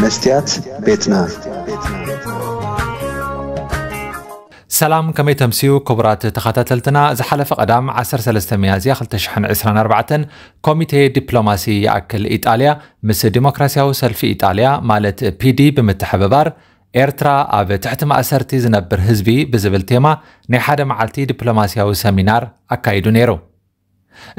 መስትያት ቤትና። ሰላም፣ ከመይ ተምስዩ ክቡራት ተኸታተልትና። ዝሓለፈ ቀዳም ዓሰርተ ሰለስተ ሚያዝያ ክልተ ሽሕን ዕስራን ኣርባዕተን ኮሚቴ ዲፕሎማሲ ይኣክል ኢጣልያ ምስ ዲሞክራሲያዊ ሰልፊ ኢጣልያ ማለት ፒዲ ብምትሕብባር ኤርትራ ኣብ ትሕቲ ማእሰርቲ ዝነብር ህዝቢ ብዝብል ቴማ ናይ ሓደ መዓልቲ ዲፕሎማሲያዊ ሰሚናር ኣካይዱ ነይሩ።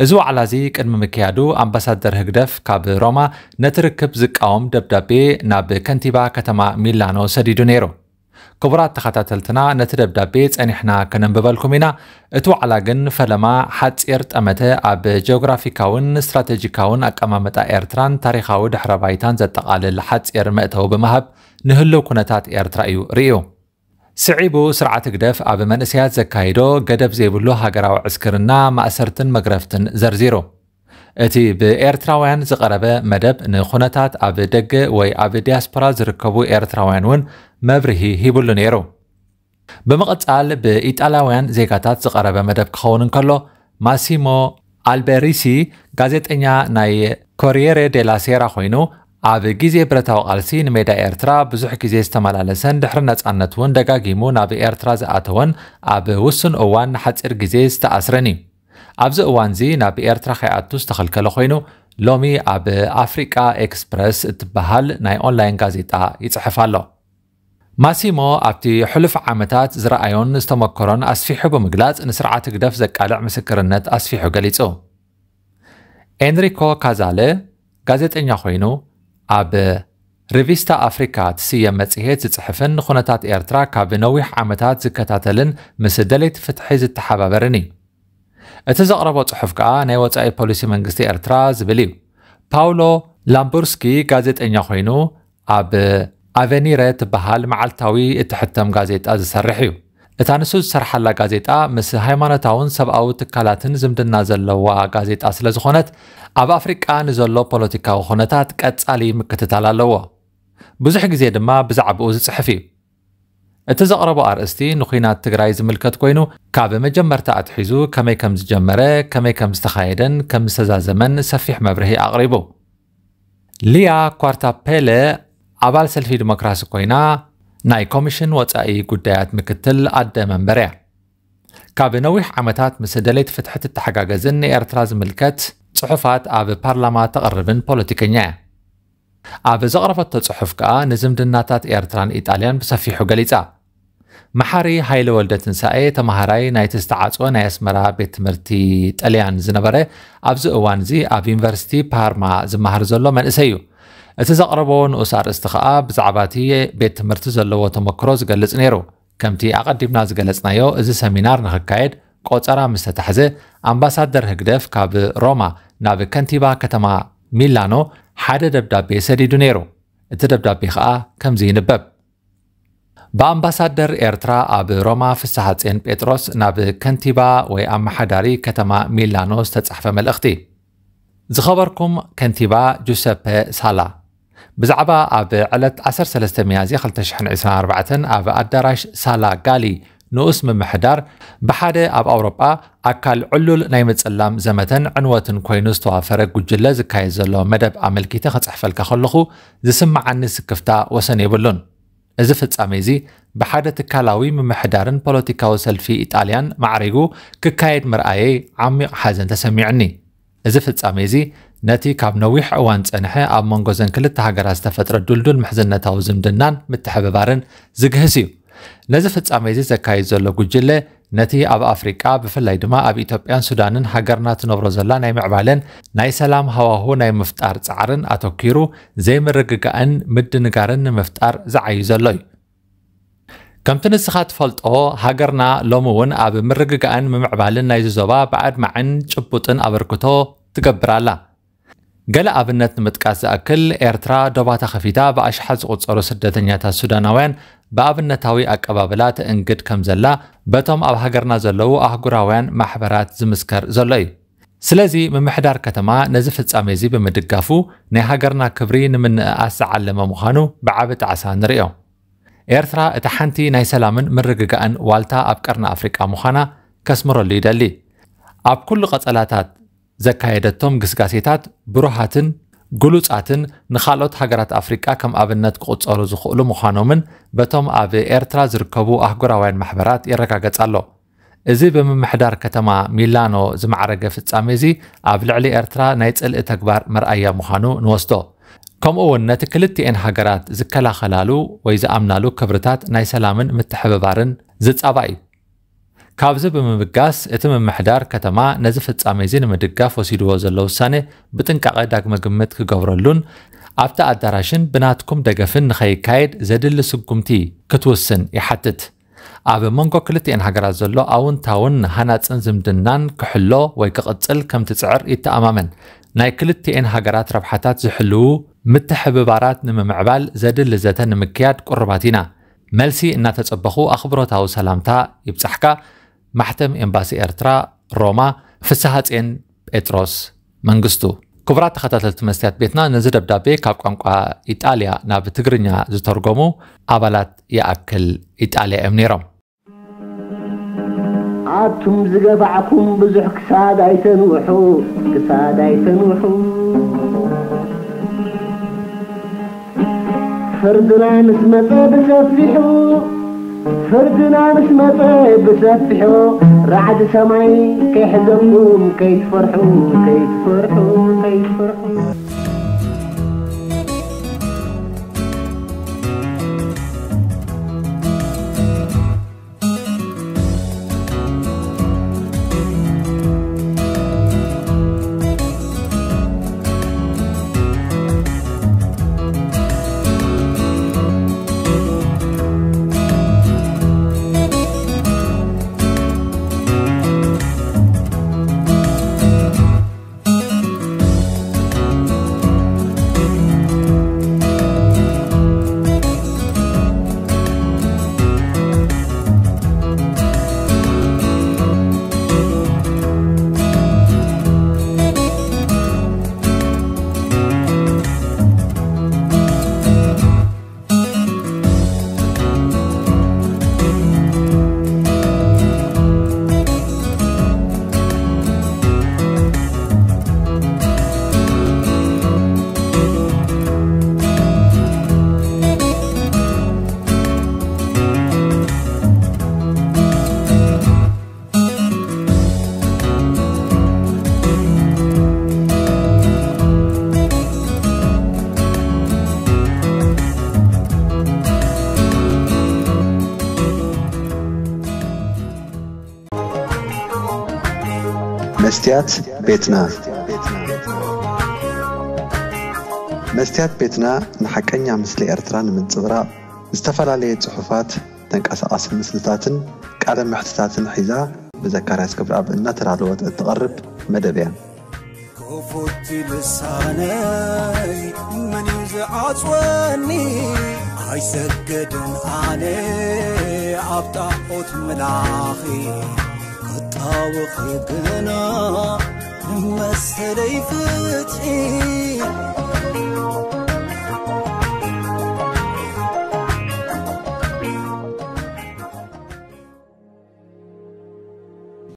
እዚ ዋዕላ እዚ ቅድሚ ምክያዱ ኣምባሳደር ህግደፍ ካብ ሮማ ነቲ ርክብ ዝቃወም ደብዳቤ ናብ ከንቲባ ከተማ ሚላኖ ሰዲዱ ነይሩ። ክቡራት ተኸታተልትና፣ ነቲ ደብዳቤ ጸኒሕና ከነንብበልኩም ኢና። እቲ ዋዕላ ግን ፈለማ ሓጺር ጠመተ ኣብ ጂኦግራፊካውን ስትራቴጂካውን ኣቀማምጣ ኤርትራን ታሪኻዊ ድሕረ ባይታን ዘጠቓልል ሓጺር መእተዊ ብምሃብ ንህልው ኩነታት ኤርትራ እዩ ርእዩ። ስዒቡ ስርዓት ህግደፍ ኣብ መንእሰያት ዘካይዶ ገደብ ዘይብሉ ሃገራዊ ዕስክርና ማእሰርትን መግረፍትን ዘርዚሩ። እቲ ብኤርትራውያን ዝቐረበ መደብ ንኹነታት ኣብ ደገ ወይ ኣብ ዲያስፖራ ዝርከቡ ኤርትራውያን እውን መብርሂ ሂብሉ ነይሩ። ብምቕጻል ብኢጣልያውያን ዜጋታት ዝቐረበ መደብ ክኸውን እንከሎ፣ ማሲሞ ኣልቤሪሲ ጋዜጠኛ ናይ ኮሪየሬ ዴላ ሴራ ኮይኑ፣ ኣብ ግዜ ብረታዊ ቃልሲ ንሜዳ ኤርትራ ብዙሕ ግዜ ዝተመላለሰን ድሕሪ ነጻነት እውን ደጋጊሙ ናብ ኤርትራ ዝኣተወን ኣብ ውሱን እዋን ንሓጺር ግዜ ዝተኣስረን እዩ። ኣብዚ እዋንዚ ናብ ኤርትራ ከይኣቱ ዝተኸልከለ ኮይኑ፣ ሎሚ ኣብ ኣፍሪቃ ኤክስፕረስ እትበሃል ናይ ኦንላይን ጋዜጣ ይጽሕፍ ኣሎ። ማሲሞ ኣብቲ ሕሉፍ ዓመታት ዝረኣዮን ዝተመከሮን ኣስፊሑ ብምግላጽ፣ ንስርዓት ህግደፍ ዘቃልዕ ምስክርነት ኣስፊሑ ገሊጹ። ኤንሪኮ ካዛለ ጋዜጠኛ ኮይኑ፣ ኣብ ሪቪስታ ኣፍሪካ ትስየም መጽሔት ዝጽሕፍን ንኹነታት ኤርትራ ካብ ነዊሕ ዓመታት ዝከታተልን ምስ ደለይቲ ፍትሒ ዝተሓባበርን እዩ። እቲ ዘቕረቦ ጽሑፍ ከኣ ናይ ወጻኢ ፖሊሲ መንግስቲ ኤርትራ ዝብል እዩ። ፓውሎ ላምቡርስኪ ጋዜጠኛ ኮይኑ፣ ኣብ ኣቨኒረ ትበሃል መዓልታዊ እትሕተም ጋዜጣ ዝሰርሕ እዩ። እታ ንሱ ዝሰርሓላ ጋዜጣ ምስ ሃይማኖታውን ሰብኣዊ ትካላትን ዝምድና ዘለዋ ጋዜጣ ስለ ዝኾነት፣ ኣብ ኣፍሪቃ ንዘሎ ፖለቲካዊ ኩነታት ቀጻሊ ምክትታል ኣለዎ። ብዙሕ ግዜ ድማ ብዛዕባኡ ዝጽሕፍ እዩ። እቲ ዘቕረቦ ኣርእስቲ ንኲናት ትግራይ ዝምልከት ኮይኑ፣ ካብ መጀመርታ ኣትሒዙ ከመይ ከም ዝጀመረ፣ ከመይ ከም ዝተኻየደን ከም ዝተዛዘመን ሰፊሕ መብርሂ ኣቕሪቡ። ሊያ ኳርታፔለ ኣባል ሰልፊ ዲሞክራሲ ኮይና፣ ናይ ኮሚሽን ወጻኢ ጉዳያት ምክትል ኣደ መንበር እያ። ካብ ነዊሕ ዓመታት ምስ ደለይቲ ፍትሒ ትተሓጋገዝን ንኤርትራ ዝምልከት ጽሑፋት ኣብ ፓርላማ ተቕርብን ፖለቲከኛ እያ። ኣብ ዘቕረበቶ ጽሑፍ ከኣ ንዝምድናታት ኤርትራን ኢጣልያን ብሰፊሑ ገሊጻ። መሓሪ ሃይለ ወልደ ትንሳኤ ተማሃራይ ናይቲ ዝተዓጽወ ናይ ኣስመራ ቤት ትምህርቲ ጥልያን ዝነበረ፣ ኣብዚ እዋን እዚ ኣብ ዩኒቨርሲቲ ፓርማ ዝመሃር ዘሎ መንእሰይ እዩ። እቲ ዘቕረቦ ንኡስ ኣርእስቲ ከኣ ብዛዕባ እቲ ቤት ትምህርቲ ዘለዎ ተመክሮ ዝገልጽ ነይሩ። ከምቲ ኣቐዲምና ዝገለጽናዮ፣ እዚ ሰሚናር ንኽካየድ ቆጸራ ምስ ተታሕዘ፣ ኣምባሳደር ህግደፍ ካብ ሮማ ናብ ከንቲባ ከተማ ሚላኖ ሓደ ደብዳቤ ሰዲዱ ነይሩ። እቲ ደብዳቤ ኸኣ ከምዚ ይንበብ። ብኣምባሳደር ኤርትራ ኣብ ሮማ ፍስሓጽዮን ጴጥሮስ ናብ ከንቲባ ወይ ኣመሓዳሪ ከተማ ሚላኖ ዝተጻሕፈ መልእኽቲ። ዝኸበርኩም ከንቲባ ጁሰፐ ሳላ፣ ብዛዕባ ኣብ ዕለት ዓሰርተ ሰለስተ ሚያዝያ ክልተ ሽሕን ዕስራን ኣርባዕተን ኣብ ኣዳራሽ ሳላ ጋሊ ንኡስ ምምሕዳር ብሓደ ኣብ ኣውሮጳ ኣካል ዕሉል ናይ ምጽላም ዘመተን ዕንወትን ኮይኑ ዝተዋፈረ ጉጅለ ዝካየድ ዘሎ መደብ ኣመልኪተ ክጽሕፈልካ ከለኹ ዝስምዓኒ ስክፍታ ወሰን የብሉን። እዚ ፍጻሜ እዚ ብሓደ ትካላዊ ምምሕዳርን ፖለቲካዊ ሰልፊ ኢጣልያን ማዕሪጉ ክካየድ ምርኣየይ ዓሚቕ ሓዘን ተሰሚዑኒ። እዚ ፍጻሜ እዚ ነቲ ካብ ነዊሕ እዋን ዝጸንሐ ኣብ መንጎ ዘን ክልተ ሃገራት ዝተፈጥረ ድልዱል ምሕዝነታዊ ዝምድናን ምትሕብባርን ዝግህስ እዩ። ነዚ ፍጻሜ እዚ ዘካይድ ዘሎ ጉጅለ ነቲ ኣብ ኣፍሪቃ ብፍላይ ድማ ኣብ ኢትዮጵያን ሱዳንን ሃገርና ትነብሮ ዘላ ናይ ምዕባለን ናይ ሰላም ሃዋሁ ናይ ምፍጣር ጻዕርን ኣተኲሩ ዘይምርግጋእን ምድንጋርን ንምፍጣር ዝዓዩ ዘሎ እዩ። ከምቲ ንስኻ ትፈልጦ፣ ሃገርና ሎሚ እውን ኣብ ምርግጋእን ምምዕባልን ናይዚ ዞባ ብኣድማዕን ጭቡጥን ኣበርክቶ ትገብር ኣላ። ገለ ኣብነት ንምጥቃስ ዝኣክል፣ ኤርትራ ዶባታ ከፊታ ብኣሽሓት ዝቑጸሩ ስደተኛታት ሱዳናውያን ብኣብነታዊ ኣቀባብላ ተእንግድ ከም ዘላ በቶም ኣብ ሃገርና ዘለዉ ኣህጉራውያን ማሕበራት ዝምስከር ዘሎ እዩ። ስለዚ ምምሕዳር ከተማ ነዚ ፍጻሜ እዚ ብምድጋፉ ናይ ሃገርና ክብሪ ንምንእኣስ ዝዓለመ ምዃኑ ብዓቢ ጣዕሳ ንርእዮ። ኤርትራ እታ ሓንቲ ናይ ሰላምን ምርግጋእን ዋልታ ኣብ ቀርኒ ኣፍሪቃ ምዃና ከስምረሉ ይደሊ። ኣብ ኩሉ ቀጸላታት ዘካየደቶም ግስጋሴታት ብሩሃትን ግሉጻትን ንኻልኦት ሃገራት ኣፍሪቃ ከም ኣብነት ክቑጸሩ ዝኽእሉ ምዃኖምን በቶም ኣብ ኤርትራ ዝርከቡ ኣህጉራውያን ማሕበራት ይረጋገጽ ኣሎ። እዚ ብምምሕዳር ከተማ ሚላኖ ዝማዕረገ ፍጻሜ እዚ ኣብ ልዕሊ ኤርትራ ናይ ጽልኢ ተግባር መርኣያ ምዃኑ ንወስዶ። ከምኡ እውን ነቲ ክልቲኤን ሃገራት ዝከላኸላሉ ወይ ዝኣምናሉ ክብርታት ናይ ሰላምን ምትሕብባርን ዝጻባእ እዩ። ካብዚ ብምብጋስ እቲ ምምሕዳር ከተማ ነዚ ፍጻሜ እዚ ንምድጋፍ ወሲድዎ ዘሎ ውሳኔ ብጥንቃቐ ዳግመ ግምት ክገብረሉን ኣብቲ ኣዳራሽን ብናትኩም ደገፍን ንኸይካየድ ዘድሊ ስጉምቲ ክትውስን ይሓትት። ኣብ መንጎ ክልቲኤን ሃገራት ዘሎ ኣውንታውን ሃናጽን ዝምድናን ክሕሎ ወይ ክቕጽል ከም ትጽዕር ይተኣማመን። ናይ ክልቲኤን ሃገራት ረብሓታት ዝሕልዉ ምትሕብባራት ንምምዕባል ዘድሊ ዘተ ንምክያድ ቅሩባት ኢና። መልሲ እናተጸበኹ ኣኽብሮታዊ ሰላምታ ይብጻሕካ። ማሕተም ኤምባሲ ኤርትራ ሮማ፣ ፍስሃጼን ጴጥሮስ መንግስቱ። ክቡራት ተኸታተልቲ መስትያት ቤትና፣ ነዚ ደብዳቤ ካብ ቋንቋ ኢጣልያ ናብ ትግርኛ ዝተርጎሙ ኣባላት ይኣክል ኢጣልያ እዮም ነይሮም። ኣቱም ዝገባዕኩም ብዙሕ ክሳድ ኣይተንውሑ፣ ክሳድ ኣይተንውሑ። ፍርድና ምስ መጸ ብሰፊሑ፣ ፍርድና ምስ መጸ ብሰፊሑ፣ ራዕዲ ሰማይ ከይሕዘኩም ከይትፈርሑ፣ ከይትፈርሑ፣ ከይትፈርሑ። መስትያት ቤትና። መስትያት ቤትና ንሓቀኛ ምስሊ ኤርትራ ንምንጽብራቕ ዝተፈላለየ ጽሑፋት፣ ተንቀሳቓሲ ምስልታትን ቃለ መሕትታትን ሒዛ ብዘካርያስ ክብረኣብ እናተዳለወት እትቐርብ መደብ እያ። ክፉት ልሳነይ መን እዩ ዝዓጽወኒ? ኣይሰገድን ኣነ ኣብ ጣዖት ምላኺ ክጣወኺ ግና ንመሰለይ ፍትሒ